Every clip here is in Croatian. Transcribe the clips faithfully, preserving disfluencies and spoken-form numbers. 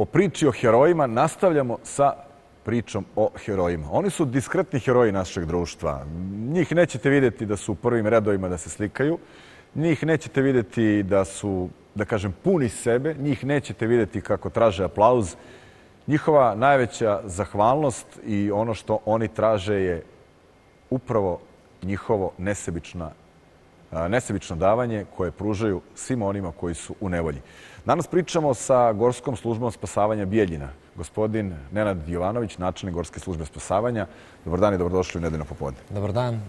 o priči o herojima nastavljamo sa pričom o herojima. Oni su diskretni heroji našeg društva. Njih nećete vidjeti da su u prvim redovima da se slikaju. Njih nećete vidjeti da su, da kažem, puni sebe. Njih nećete vidjeti kako traže aplauz. Njihova najveća zahvalnost i ono što oni traže je upravo njihovo nesebična, nesebično davanje koje pružaju svima onima koji su u nevolji. Danas pričamo sa Gorskom službom spasavanja Bijeljina. Gospodin Nenad Jovanović, načelnik Gorske službe spasavanja. Dobar dan i dobrodošli u Nedeljno popodne. Dobar dan.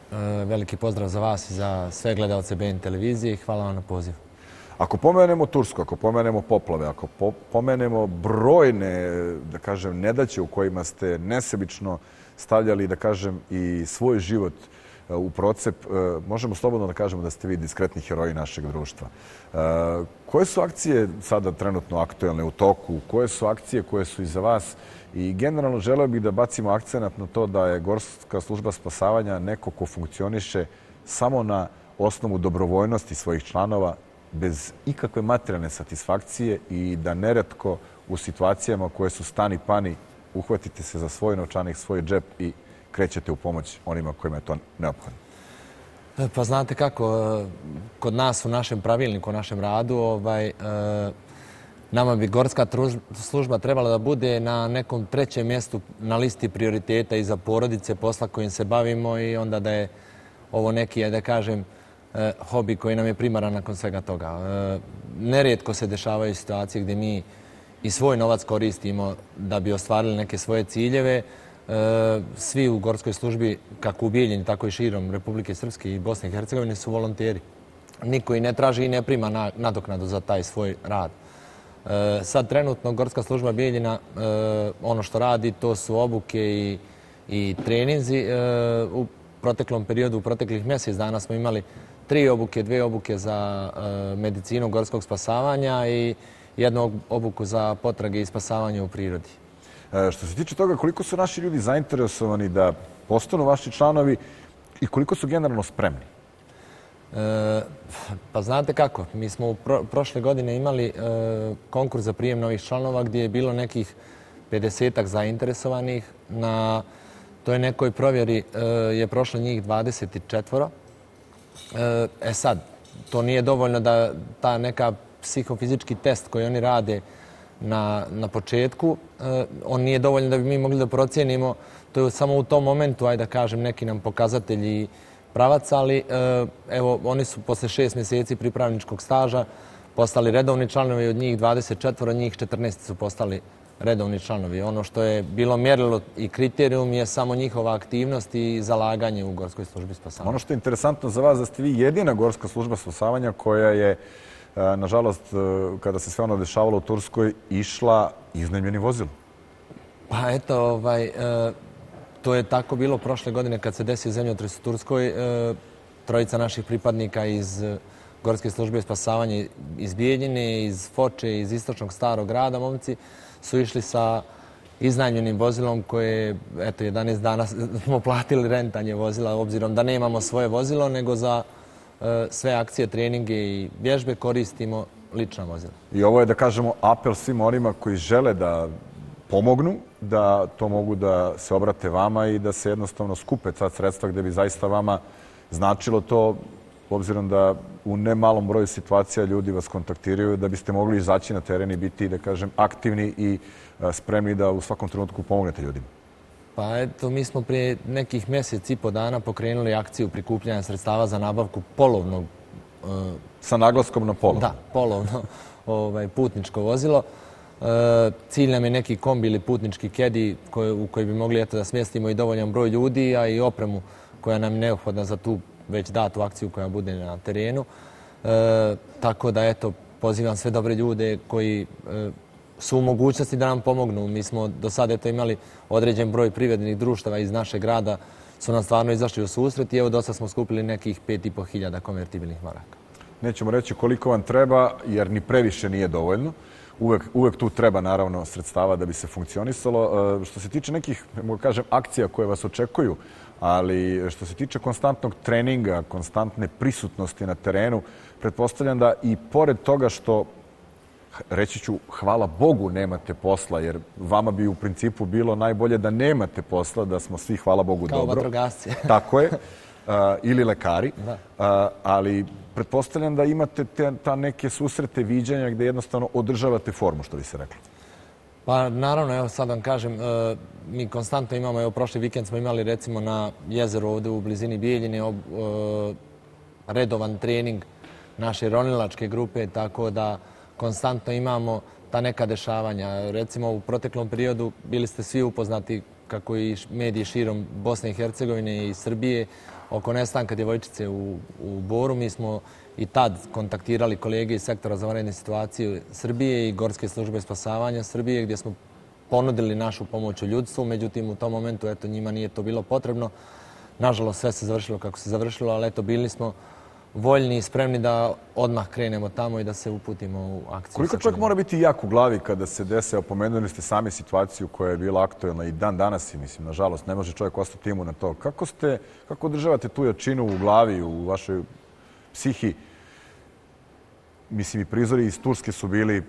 Veliki pozdrav za vas i za sve gledalce B N televizije. Hvala vam na pozivu. Ako pomenemo Tursku, ako pomenemo poplave, ako pomenemo brojne, da kažem, nedaće u kojima ste nesebično stavljali, da kažem, i svoj život u procep, možemo slobodno da kažemo da ste vi diskretni heroji našeg društva. Koje su akcije sada trenutno aktuelne u toku? Koje su akcije koje su iza vas? I generalno želeo bih da bacimo akcenat na to da je Gorska služba spasavanja neko ko funkcioniše samo na osnovu dobrovoljnosti svojih članova, bez ikakve materijalne satisfakcije i da neretko u situacijama koje su stani pani uhvatite se za svoj novčanik, svoj džep i krećete u pomoć onima kojima je to neophodno. Pa znate kako, kod nas u našem pravilniku, u našem radu, ovaj, nama bi Gorska služba trebala da bude na nekom trećem mjestu na listi prioriteta i za porodice, posla kojim se bavimo i onda da je ovo neki, da kažem, hobi koji nam je primaran nakon svega toga. Nerijetko se dešavaju situacije gdje mi i svoj novac koristimo da bi ostvarili neke svoje ciljeve. Svi u Gorskoj službi, kako u Bijeljini, tako i širom Republike Srpske i Bosne i Hercegovine, su volonteri. Niko i ne traži i ne prima nadoknadu za taj svoj rad. Sad trenutno Gorska služba Bijeljina, ono što radi, to su obuke i, i treninzi. U proteklom periodu, u proteklih mjesec dana smo imali tri obuke, dve obuke za medicinu gorskog spasavanja i jednu obuku za potrage i spasavanje u prirodi. Što se tiče toga, koliko su naši ljudi zainteresovani da postanu vaši članovi i koliko su generalno spremni? E, pa znate kako, mi smo u pro, prošle godine imali e, konkurs za prijem novih članova gdje je bilo nekih pedesetak zainteresovanih. Na toj nekoj provjeri e, je prošlo njih dvadeset četiri. E, e sad, to nije dovoljno da ta neka psihofizički test koji oni rade Na, na početku, eh, on nije dovoljno da bi mi mogli da procijenimo. To je samo u tom momentu, ajde da kažem, neki nam pokazatelji pravac, ali eh, evo, oni su posle šest mjeseci pripravničkog staža postali redovni članovi, od njih dvadeset četiri, njih četrnaest su postali redovni članovi. Ono što je bilo mjerilo i kriterijum je samo njihova aktivnost i zalaganje u Gorskoj službi spasavanja. Ono što je interesantno za vas, da ste vi jedina Gorska služba spasavanja koja je, nažalost, kada se sve ono dešavalo u Turskoj, išla iznajmljenim vozilom. Pa eto, ovaj, to je tako bilo prošle godine kad se desio zemljotres u Turskoj. Trojica naših pripadnika iz Gorske službe spasavanja iz Bijeljine, iz Foče, iz istočnog starog grada, momci, su išli sa iznajmljenim vozilom koje, eto, jedanaest dana smo platili rentanje vozila, obzirom da nemamo svoje vozilo, nego za sve akcije, treninge i vježbe koristimo lična vozila. I ovo je, da kažemo, apel svim onima koji žele da pomognu, da to mogu da se obrate vama i da se jednostavno skupe ta sredstva gdje bi zaista vama značilo to, obzirom da u nemalom broju situacija ljudi vas kontaktiraju, da biste mogli izaći na teren i biti, da kažem, aktivni i spremni da u svakom trenutku pomognete ljudima. Pa eto, mi smo prije nekih mjesec i po dana pokrenuli akciju prikupljanja sredstava za nabavku polovnog... Uh, Sa naglaskom na polovno? Da, polovno ovaj, putničko vozilo. E, cilj nam je neki kombi ili putnički kedi koji, u koji bi mogli eto, da smjestimo i dovoljan broj ljudi, a i opremu koja nam je neophodna za tu već datu akciju koja bude na terenu. E, tako da, eto, pozivam sve dobre ljude koji... E, su u mogućnosti da nam pomognu. Mi smo do sada eto imali određen broj privrednih društava iz našeg grada, su nam stvarno izašli u susret i evo do sada smo skupili nekih pet i po hiljada konvertibilnih maraka. Nećemo reći koliko vam treba, jer ni previše nije dovoljno. Uvek, uvek tu treba, naravno, sredstava da bi se funkcionisalo. Što se tiče nekih, mogu kažem, akcija koje vas očekuju, ali što se tiče konstantnog treninga, konstantne prisutnosti na terenu, pretpostavljam da i pored toga što reći ću, hvala Bogu nemate posla, jer vama bi u principu bilo najbolje da nemate posla, da smo svi, hvala Bogu, Kao dobro. vatrogasci. Tako je. Uh, ili lekari. Da. Uh, ali pretpostavljam da imate te, ta neke susrete, viđanja gde jednostavno održavate formu, što bi se reklo. Pa naravno, evo sad vam kažem, e, mi konstantno imamo, evo prošli vikend smo imali recimo na jezeru ovdje u blizini Bijeljine ob, e, redovan trening naše ronilačke grupe, tako da konstantno imamo ta neka dešavanja. Recimo u proteklom periodu bili ste svi upoznati, kako i mediji širom Bosne i Hercegovine i Srbije, oko nestanka djevojčice u, u Boru. Mi smo i tad kontaktirali kolege iz sektora za vanredne situacije Srbije i Gorske službe spasavanja Srbije, gdje smo ponudili našu pomoć u ljudstvu. Međutim, u tom momentu eto, njima nije to bilo potrebno. Nažalost, sve se završilo kako se završilo, ali eto, bili smo voljni i spremni da odmah krenemo tamo i da se uputimo u akciju. Koliko čovjek mora biti jak u glavi kada se dese, opomenuli ste sami situaciju koja je bila aktuelna i dan danas, i mislim, nažalost, ne može čovjek ostati imun na to. Kako ste, kako održavate tu jačinu u glavi, u vašoj psihi? Mislim, i prizori iz Turske su bili,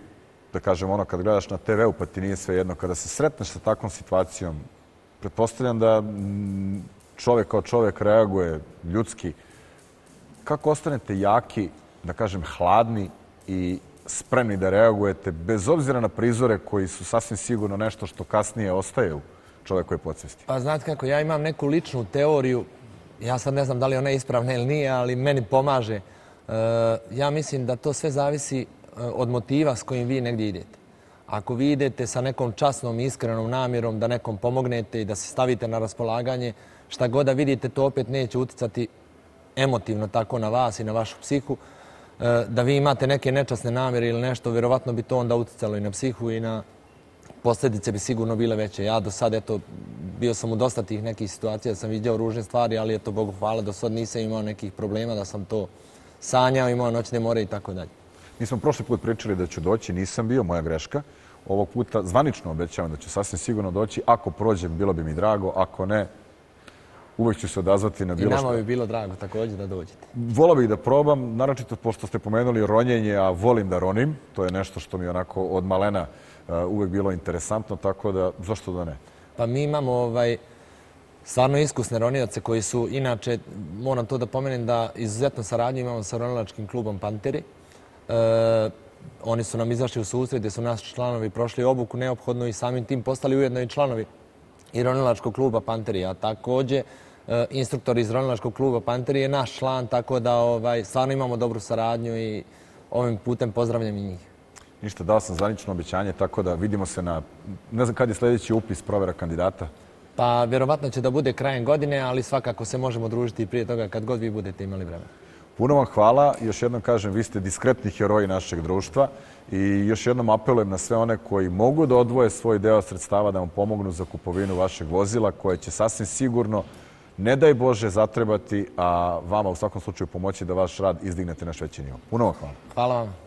da kažem, ono kad gledaš na te veu pa ti nije sve jedno. Kada se sretneš sa takvom situacijom, pretpostavljam da čovjek kao čovjek reaguje ljudski. Kako ostanete jaki, da kažem, hladni i spremni da reagujete, bez obzira na prizore koji su sasvim sigurno nešto što kasnije ostaje u čovjekoj podsvesti? Pa znate kako, ja imam neku ličnu teoriju, ja sad ne znam da li ona je ispravna ili nije, ali meni pomaže. Ja mislim da to sve zavisi od motiva s kojim vi negdje idete. Ako vi idete sa nekom časnom i iskrenom namjerom da nekom pomognete i da se stavite na raspolaganje, šta god da vidite, to opet neće uticati emotivno tako na vas i na vašu psihu. Da vi imate neke nečasne namjere ili nešto, vjerovatno bi to onda uticalo i na psihu i na posljedice bi sigurno bile veće. Ja do sad, eto, bio sam u dosta tih nekih situacija, da sam vidio ružne stvari, ali eto, Bogu hvala, do sad nisam imao nekih problema da sam to sanjao, imao noćne more i tako dalje. Mi smo prošli put pričali da ću doći, nisam bio, moja greška. Ovog puta zvanično obećavam da ću sasvim sigurno doći. Ako prođem, bilo bi mi drago, ako ne, uvek ću se odazvati na bilo što. I nama bi bilo drago također da dođete. Volao bih da probam, naročito pošto ste pomenuli ronjenje, a volim da ronim. To je nešto što mi onako od malena uvek bilo interesantno, tako da zašto da ne? Pa mi imamo ovaj, stvarno iskusne ronioce koji su, inače, moram to da pomenem da izuzetno saradnju imamo sa ronilačkim klubom Panteri. E, oni su nam izašli u susret gdje su naši članovi prošli obuku neophodno i samim tim postali ujedno i članovi i ronilačkog kluba Panteri. A također, e, instruktor iz ronilačkog kluba Panteri je naš član, tako da ovaj, stvarno imamo dobru saradnju i ovim putem pozdravljam i njih. Ništa, dao sam zvanično obećanje, tako da vidimo se na, ne znam kad je sljedeći upis provjera kandidata. Pa vjerovatno će da bude krajem godine, ali svakako se možemo družiti prije toga kad god vi budete imali vremena. Puno vam hvala. Još jednom kažem, vi ste diskretni heroji našeg društva i još jednom apelujem na sve one koji mogu da odvoje svoj deo sredstava da vam pomognu za kupovinu vašeg vozila, koje će sasvim sigurno, ne daj Bože, zatrebati, a vama u svakom slučaju pomoći da vaš rad izdignete na veći nivo. Puno vam hvala. Hvala vam.